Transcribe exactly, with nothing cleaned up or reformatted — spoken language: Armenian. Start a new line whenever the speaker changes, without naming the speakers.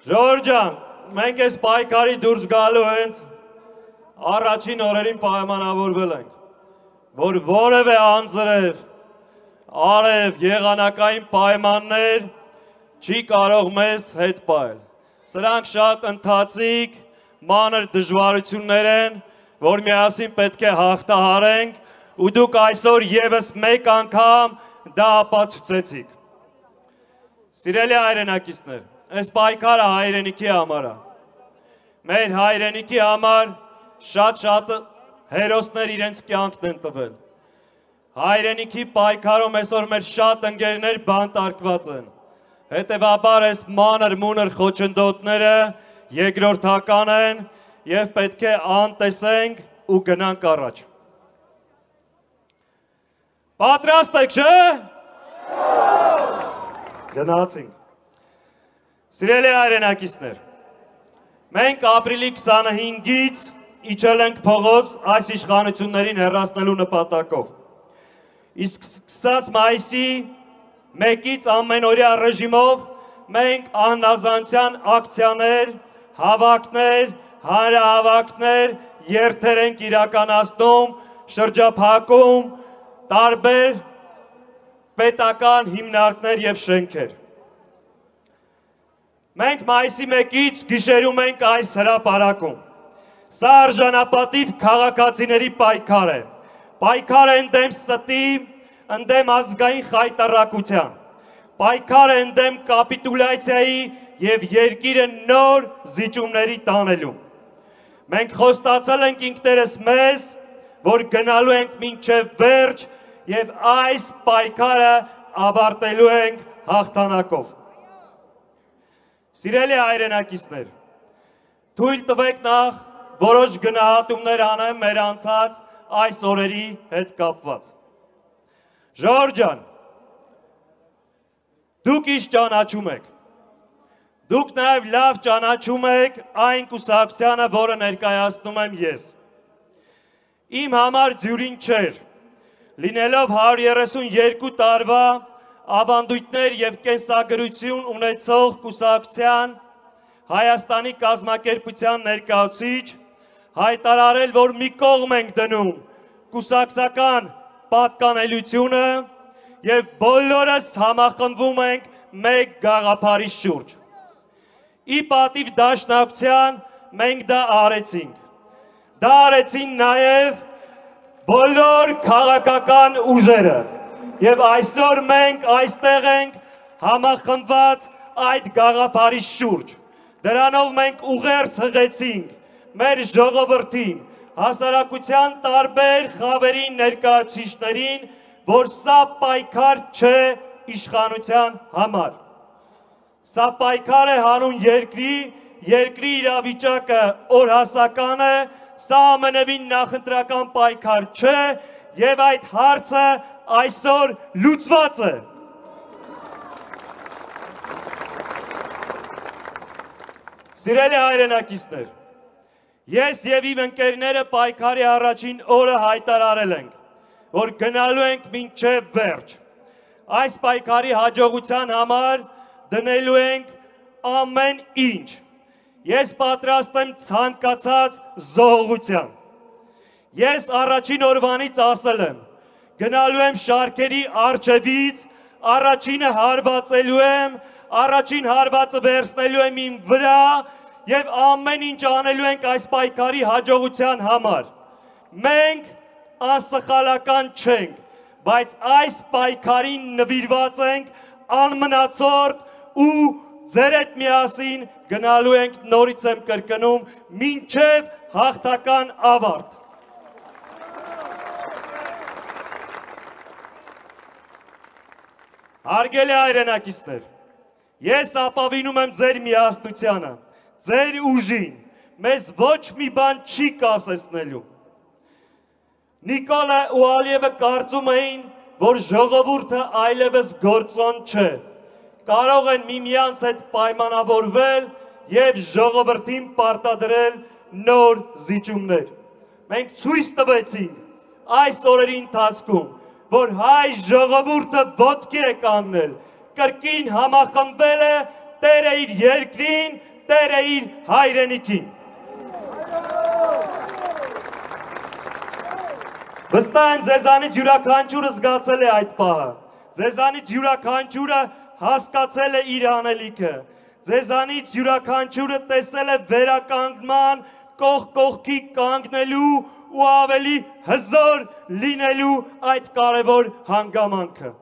Ժորժան, մենք այս պայքարի դուրս գալու հենց առաջին օրերին պայմանավորվել ենք, որ որևէ անձրև, արև, եղանակային պայմաններ չի կարող մեզ հետ պահել։ Սրանք շատ ընթացիկ, մանր դժվարություններ են, որ միասին պետք է հաղթահարենք, ու դուք այսօր ևս մեկ անգամ դա ապացուցեցիք։ Սիրելի հայրենակիցներ, այս պայքարը հայրենիքի համար է։ Մեր հայրենիքի համար շատ-շատ հերոսներ իրենց կյանքն են տվել։ Հայրենիքի պայքարում այսօր մեր շատ ընկերներ բանտարկված են։ Հետևաբար այս մանր մունր խոչընդոտները երկրորդական են եւ պետք է անտեսենք ու գնանք առաջ։ Պատրաստ եք, չէ՞։ Գնացինք։ Սիրելի հայրենակիցներ, մենք ապրիլի քսանհինգից իջել ենք փողոց այս իշխանություններին հեռացնելու նպատակով։ Իսկ սկսած մայիսի մեկից ամենօրյա ռեժիմով մենք անհնազանդության ակցիաներ, հավաքներ, հանրահավաքներ, երթեր ենք իրականացնում, շրջափակում, տարբեր պետական հիմնարկներ եւ շենքեր։ Մենք մայիսի մեկից գիշերում ենք այս հրապարակում։ Սա արժանապատիվ քաղաքացիների պայքար է։ Պայքար է ընդդեմ ստի, ընդդեմ ազգային խայտառակության։ Պայքար է ընդդեմ կապիտուլյացիայի եւ երկիրը նոր զիջումների տանելու։ Մենք խոստացել ենք ինքներս մեզ, որ գնալու ենք մինչև վերջ եւ այս պայքարը ավարտելու ենք հաղթանակով։ Սիրելի հայրենակիցներ, թույլ տվեք նախ որոշ գնահատումներ անեմ մեր անցած այս օրերի հետ կապված։ Ժորժան, դուք ինչ ճանաչում եք։ Դուք նաև լավ ճանաչում եք այն կուսակցությանը, որը ներկայացնում եմ ես։ Իմ համար ձյուրին չէր, լինելով հարյուր երեսուն երկու տարվա ավանդույթներ եւ կենսագրություն ունեցող կուսակցության Հայաստանի կազմակերպության ներկայացուցիչ հայտարարել, որ մի կողմ ենք դնում կուսակցական պատկանելությունը եւ բոլորս համախմբվում ենք մեկ գաղափարի շուրջ։ Ի պատիվ դաշնակցության մենք դա արեցինք։ Դա արեցին նաեւ բոլոր քաղաքական ուժերը։ Եվ այսօր մենք այստեղ ենք համախմբված այդ գաղափարի շուրջ։ Դրանով մենք ուղերձ հղեցինք մեր ժողովրդին, հասարակության տարբեր խավերի ներկայացուցիչներին, որ սա պայքար չէ իշխանության համար։ Սա պայքար է հանուն երկրի, երկրի իրավիճակը օրհասական է, սա ամենևին նախընտրական պայքար չէ եւ այդ հարցը այսօր լուծված է։ Սիրելի հայրենակիցներ, ես եւ իմ ընկերները պայքարի առաջին օրը հայտարարել ենք, որ գնալու ենք մինչև վերջ։ Այս պայքարի հաջողության համար դնելու ենք ամեն ինչ։ Ես պատրաստ եմ ցանկացած զոհողության։ Ես առաջին օրվանից ասել եմ, գնալու եմ շարքերի առջևից, առաջինը հարվածելու եմ, առաջին հարվածը վերցնելու եմ իմ վրա եւ ամեն ինչ անելու ենք այս պայքարի հաջողության համար։ Մենք անսխալական չենք, բայց այս պայքարին նվիրված ենք անմնացորդ ու ձեր հետ միասին գնալու ենք, նորից եմ կրկնում, մինչև հաղթական ավարտ։ Հարգելի հայրենակիցներ, ես ապավինում եմ ձեր միասնությանը, ձեր ուժին, մեզ ոչ մի բան չի կասեցնելու։ Նիկոլը ու Ալիևը կարծում էին, որ ժողովուրդը այլևս գործոն չէ, կարող են միմյանց հետ պայմանավորվել եւ ժողովրդին պարտադրել նոր զիջումներ։ Մենք ցույց տվեցինք այս օրերի ընթացքում, որ հայ ժողովուրդը ոտքի է կանգնել, կրկին համախմբվել է Տերը իր երկրին, Տերը իր հայրենիքին։ Վստահ եմ ձեզանից յուրաքանչյուրը զգացել է այդ պահը, ձեզանից յուրաքանչյուրը հասկացել է իր անելիքը, ձեզանից յուրաքանչյուրը տեսել է վերականգնման, կողք կողքի կանգնելու ու ավելի հզոր լինելու այդ կարևոր հանգամանքը։